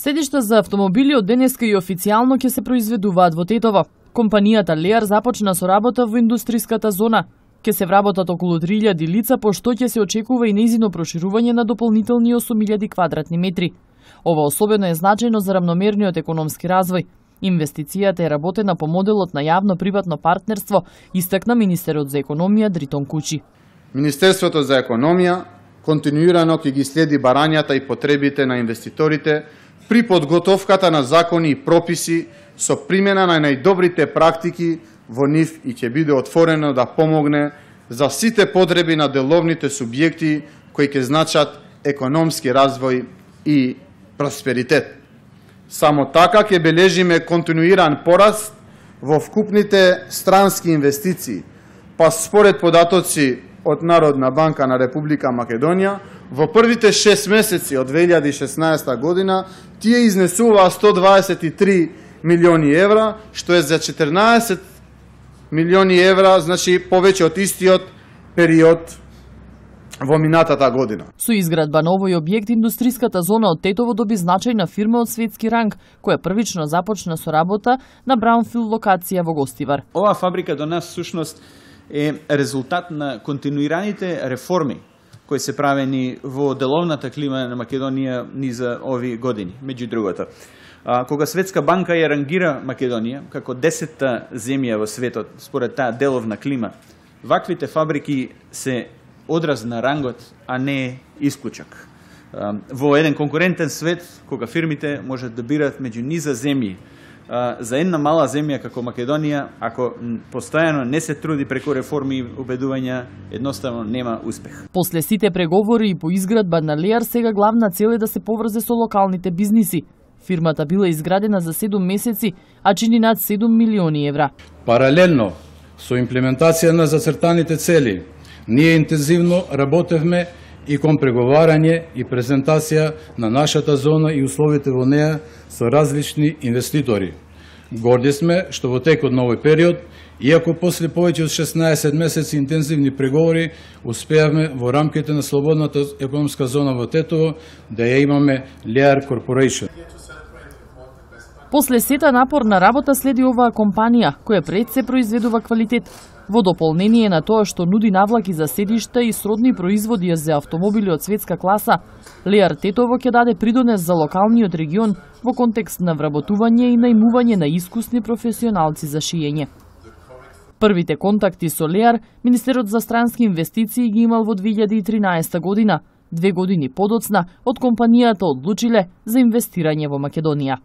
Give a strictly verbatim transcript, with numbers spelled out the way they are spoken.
Седишта за автомобили од денеска и официјално ќе се произведуваат во Тетово. Компанијата Леар започна со работа во индустриската зона. Ќе се вработат околу три илјади лица, пошто ќе се очекува и нејзино проширување на дополнителни осум илјади квадратни метри. Ова особено е значајно за рамномерниот економски развој. Инвестицијата е работена по моделот на јавно-приватно партнерство, истакна министерот за економија Дритон Кучи. Министерството за економија континуирано ќе ги следи барањата и потребите на инвеститорите при подготовката на закони и прописи со примена на најдобрите практики во нив и ќе биде отворено да помогне за сите потреби на деловните субјекти кои ќе значат економски развој и просперитет. Само така ќе бележиме континуиран пораст во вкупните странски инвестиции, па според податоци од Народна банка на Република Македонија, во првите шест месеци од две илјади и шеснаесета година тие изнесуваа сто дваесет и три милиони евра, што е за четрнаесет милиони евра, значи повеќе од истиот период во минатата година. Со изградба на овој објект, индустриската зона од Тетово доби значајна фирма од светски ранг, која првично започна со работа на браунфилд локација во Гостивар. Оваа фабрика до нас всушност е резултат на континуираните реформи кои се правени во деловната клима на Македонија низа овие години, меѓу другото. А, кога Светска банка ја рангира Македонија како десетта земја во светот според таа деловна клима, ваквите фабрики се одраз на рангот, а не исклучок. А, во еден конкурентен свет, кога фирмите можат да бират меѓу низа земји, а, за една мала земја како Македонија, ако постојано не се труди преку реформи и убедувања, едноставно нема успех. После сите преговори и по изградба на Леар, сега главна цел е да се поврзе со локалните бизниси. Фирмата била изградена за седум месеци, а чини над седум милиони евра. Паралелно со имплементација на зацртаните цели, ние интензивно работевме и кон преговарање и презентација на нашата зона и условите во неа со различни инвеститори. Горди сме што во текот на овој период, иако после повеќе од шеснаесет месеци интензивни преговори, успеавме во рамките на слободната економска зона во Тетово да ја имаме Леар Corporation. После сета напорна работа следи оваа компанија, која пред се произведува квалитет. Во дополнение на тоа што нуди навлаки за седишта и сродни производи за автомобили од светска класа, Леар Тетово ќе даде придонес за локалниот регион во контекст на вработување и најмување на искусни професионалци за шиење. Првите контакти со Леар Министерот за странски инвестиции ги имал во две илјади и тринаесета година, две години подоцна од компанијата одлучиле за инвестирање во Македонија.